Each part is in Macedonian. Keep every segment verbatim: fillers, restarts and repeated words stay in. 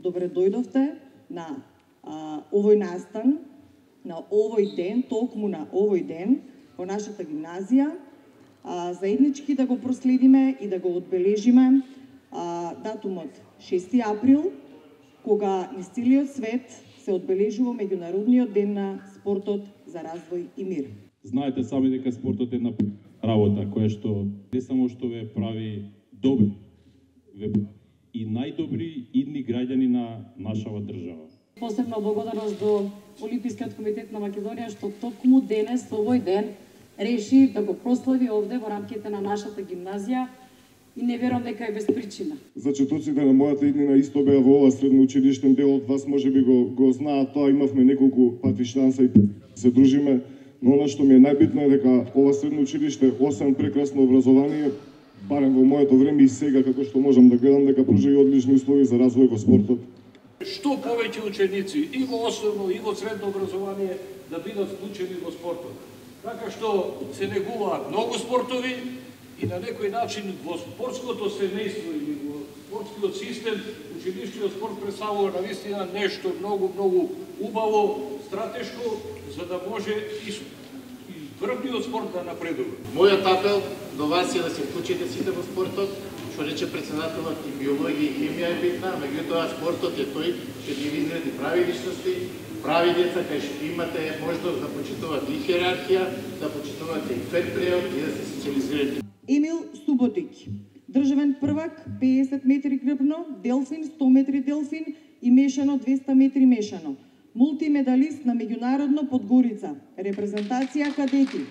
добре дојдовте на а, овој настан, на овој ден, токму на овој ден, во нашата гимназија, а, заеднички да го проследиме и да го одбележиме а, датумот шести април, кога низ целиот свет се одбележува меѓународниот ден на спортот за развој и мир. Знаете сами дека спортот е една работа која што не само што ве прави добри, ве и најдобри идни граѓани на нашава држава. Посебна благодарност до Олимпискиот комитет на Македонија што токму денес, овој ден, реши да го прослави овде во рамките на нашата гимназија и не верувам дека е без причина. Зачетоците на мојата иднина исто беа во ова средно училиштен дел од вас можеби го го знаат тоа, имавме неколку пати шанса и се дружиме, но она што ми е најбитно е дека ова средно училиште освен прекрасно образование, барем во моето време и сега како што можам да гледам дека пружа и одлични услови за развој во спортот. Што повеќе ученици и во основно и во средно образование да бидат вклучени во спортот. Така што се негуваат многу спортови и на некој начин во спортското семејство или во спортскиот систем училишниот спорт представува навистина нешто многу многу убаво, стратешко, за да може и врвниот спорт да напредува. Мојот апел до вас е да се вклучите сите во спортот, што рече председателот, и биологија и хемија е битна, меѓутоа спортот е тој што ги изгради прави личности, прави деца кај што имате можност да почитувате и хиерархија, да почитувате и фер преод и да се социализирате. Емил Суботик, државен првак педесет метри грбно, делфин сто метри делфин и мешано двеста метри мешано. Мултимедалист на меѓународно Подгорица, репрезентација кадети.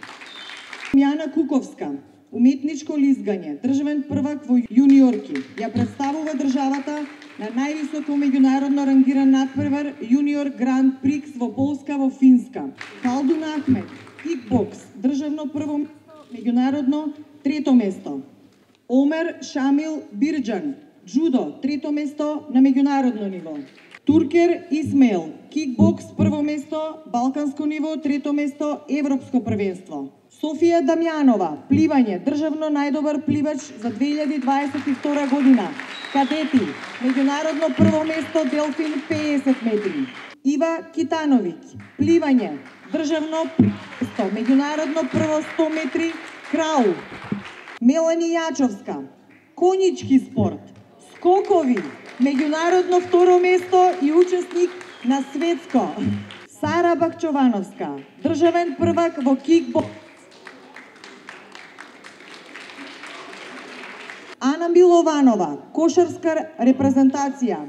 Јана Куковска, уметничко лизгање, државен првак во јуниорки, ја представува државата на највисоко меѓународно рангиран надпревар Јуниор Гранд Прикс во Полска во Финска. Халдун Ахмет, кикбокс, државно прво место, меѓународно трето место. Омер Шамил Бирџан, джудо, трето место на меѓународно ниво. Туркер Исмаил, кикбокс прво место, балканско ниво, трето место, европско првенство. Софија Дамјанова, пливање, државно најдобар пливач за две илјади дваесет и втора година. Кадети, меѓународно прво место, делфин педесет метри. Ива Китановиќ, пливање, државно место, меѓународно прво сто метри, крау. Мелани Јачовска, конички спорт, скокови, меѓународно второ место и учесник на светско. Сара Бакчовановска, државен првак во кикбокс. Ана Милованова, кошарска репрезентација.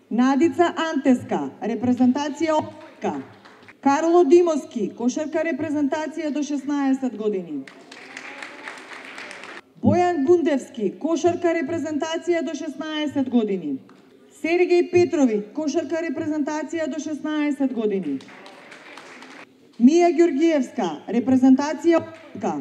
Надица Антеска, репрезентација опка. Карло Димовски, кошарка репрезентација до шеснаесет години. Бојан Бундевски, кошарка репрезентација до шеснаесет години. Сергеј Петровиќ, кошарка репрезентација до шеснаесет години. Мија Ѓоргиевска, репрезентација опка.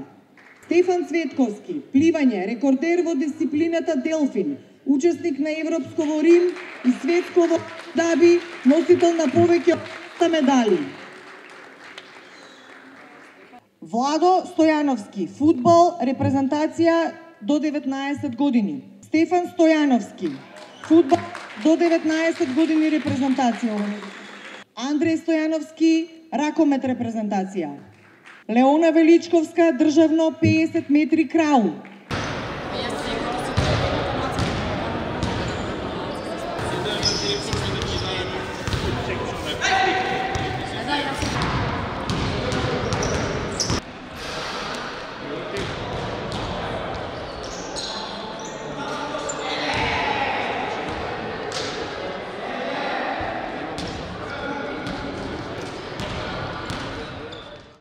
Стефан Цветковски, пливање, рекордер во дисциплината делфин, учесник на европско во Рим и светско во Даби, носител на повеќе од медали. Владо Стојановски, фудбал, репрезентација до деветнаесет години. Стефан Стојановски, фудбал до деветнаесет години репрезентација. Андреј Стојановски, ракомет репрезентација. Леона Величковска, државно педесет метри крау.